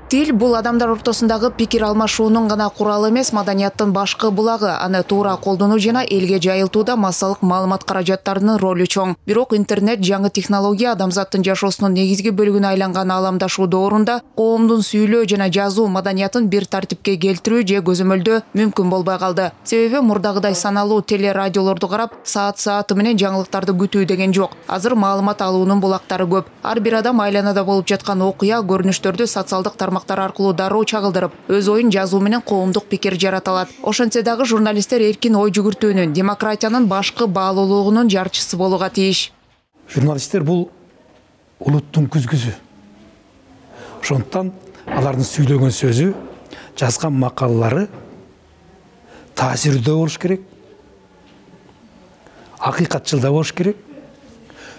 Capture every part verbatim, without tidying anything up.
Тил бул адамдар ортосундагы пикир алмашуунун гана куралы эмес, маданияттын башкы булагы. Аны туура колдонуу жана элге жайылтууда массалык маалымат каражаттарынын ролу чоң. Бирок интернет жаңы технология адамзаттын жашоосунун негизги бөлүгүнө айланган ааламдашуу доорунда коомдун сүйлөө жана жазуу маданиятын бир тартипке келтирүү же көзөмөлдөө мүмкүн болбой калды. Себеби мурдагыдай саналуу телерадиолорду карап, саат-сааты менен жаңылыктарды күтүү деген жок. Азыр маалымат алуунун булактары көп. Ар бир адам айланада болуп жаткан окуя, көрүнүштөрдү социалдык тармактар аркылуу дароо чагылдырып, өз оюн жазуу менен коомдук пикир жарата алат. Ошентсе дагы журналисттер эркин ой жүгүртүүнүн, демократиянын башкы баалуулугунун жарчысы болууга тийиш. Журналисттер бул улуттун күзгүсү. Ошондуктан алардын сүйлөгөн сөзү, жазган макалалары таасирдүү болуш керек, акыйкатчыл да болуш керек,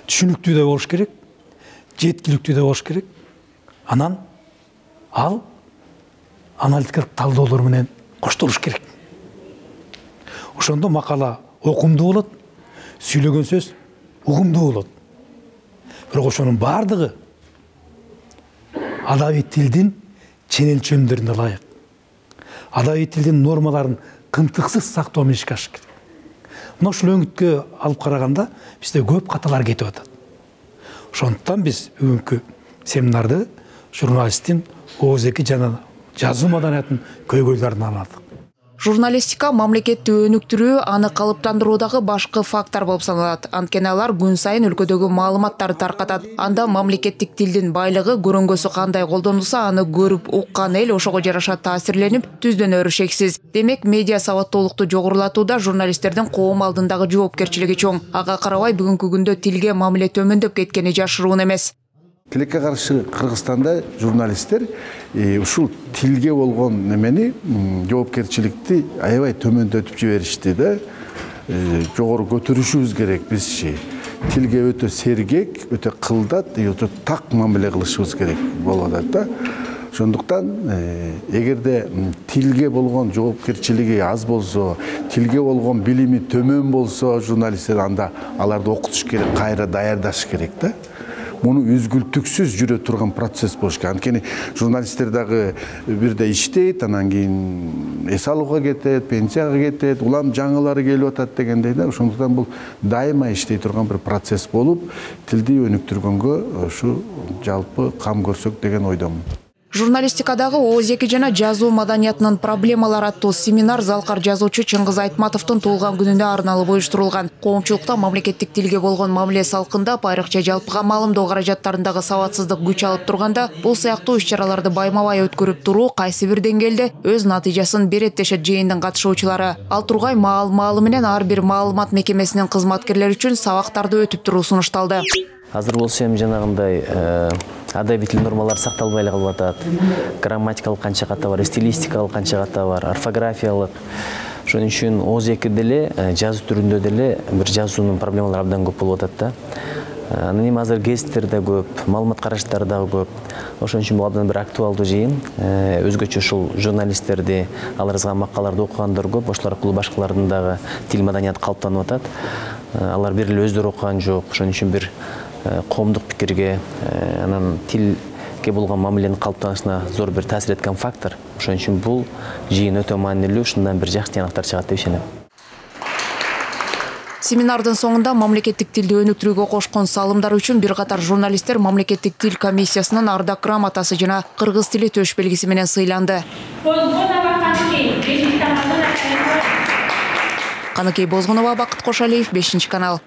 түшүнүктүү да болуш керек, жеткиликтүү да болуш керек. Анан ал аналитикалык талдоолор менен коштолуш керек. Ошондо макала окумдуу болот, сүйлөгөн сөз угумдуу болот. Бирок ошонун бардыгы адабий тилдин ченелчөмдөрүнө ылайык. Адабий тилдин нормаларын кымтыксыз сактоо менен ишке ашыш керек. Мына ушул өңүткө алып караганда бизде көп каталар кетип атат. Ошондуктан биз бүгүнкү семинарды журналисттин оозеки жана жазуу маданиятынын көйгөйлөрүн аладык. Журналистика мамлекетти өнүктүрүү, аны калыптандыруудагы башкы фактор болуп саналат. Анткени алар күн сайын өлкөдөгү маалыматтарды таркатат. Анда мамлекеттик тилдин байлыгы, көрөнгөсү кандай колдонулса, аны көрүп уккан эл ошого жараша таасирленип, түздөнөрү шексиз. Демек, медиа сабаттуулукту жогорулатууда журналисттердин коом алдындагы жоопкерчилиги чоң. Ага карабай, бүгүнкү күндө тилге мамиле төмөндөп кеткени жашыруун эмес. Тилекке каршы Кыргызстанда журналисттер ушул тилге болгон немени жоопкерчиликти аябай төмөндөтүп жиберишти да. Жогору көтөрүшүбүз керек бизчи. Тилге өтө сергек, өтө кылдат, өтө так мамиле кылышыбыз керек болуп атат да. Ошондуктан эгерде тилге болгон жоопкерчилиги аз болсо, тилге болгон билими төмөн болсо, журналисттер анда аларды окутуш керек, кайра даярдаш керек да. Муну үзгүлтүксүз жүрө турган процесс болуш керек. Анткени журналисттер дагы бирде иштейт, анан кийин эс алууга кетет, пенсияга кетет, улам жаңылары келип атат дегендей да. Ошондуктан бул дайыма иштей турган бир процесс болуп, тилди өнүктүргөнгө ушу жалпы кам көрсөк деген ойдомун. Журналистикадагы оозеки жана жазуу маданиятынын проблемалары аттуу семинар залкар жазуучу Чыңгыз Айтматовдун туулган күнүнө арналып уюштурулган. Коомчулукта мамлекеттик тилге болгон мамиле салкындап, айрыкча жалпыга маалымдоо каражаттарындагы сабатсыздык күч алып турганда, бул сыяктуу иш-чараларды байма-бай өткөрүп туруу кайсы бир деңгээлде өз натыйжасын берет дешет жыйындын катышуучулары. Ал тургай маал-маалы менен ар бир маалымат мекемесинин кызматкерлери үчүн сабактарды өтүп туруу сунушталды. Азыр болсо эми жанагындай адабий тил нормалары сакталбай эле калып атат. Грамматикалык канча ката бар, стилистикалык канча ката бар, орфографиялык. Ошон үчүн оозеки деле жазуу түрүндө деле бир жазуунун проблемалары абдан көп болуп атат да. Анан эми азыр гезиттер да көп, маалымат караштары дагы көп. Ошон үчүн бул абдан бир актуалдуу жыйын. Өзгөчө ушул журналисттерди, алар жазган макалаларды окугандар көп, ошолор аркылуу башкалардын дагы тил маданияты калыптанып атат. Алар бир эле өздөрү окуган жок. Ошон үчүн бир коомдук пикирге, анан тилге болгон мамиленин калыптанышына зор бир таасир эткен фактор. Ошон үчүн бул жыйын өтө маанилүү, ушундан бир жакшы тыянактар чыгат деп ишенем. Семинардын соңунда мамлекеттик тилди өнүктүрүүгө кошкон салымдары үчүн бир катар журналисттер мамлекеттик тил комиссиясынын ардак грамотасы жана кыргыз тили төш белгиси менен сыйланды. Каныкей Бозгунова, Бакыт Кошалиев, бешинчи канал.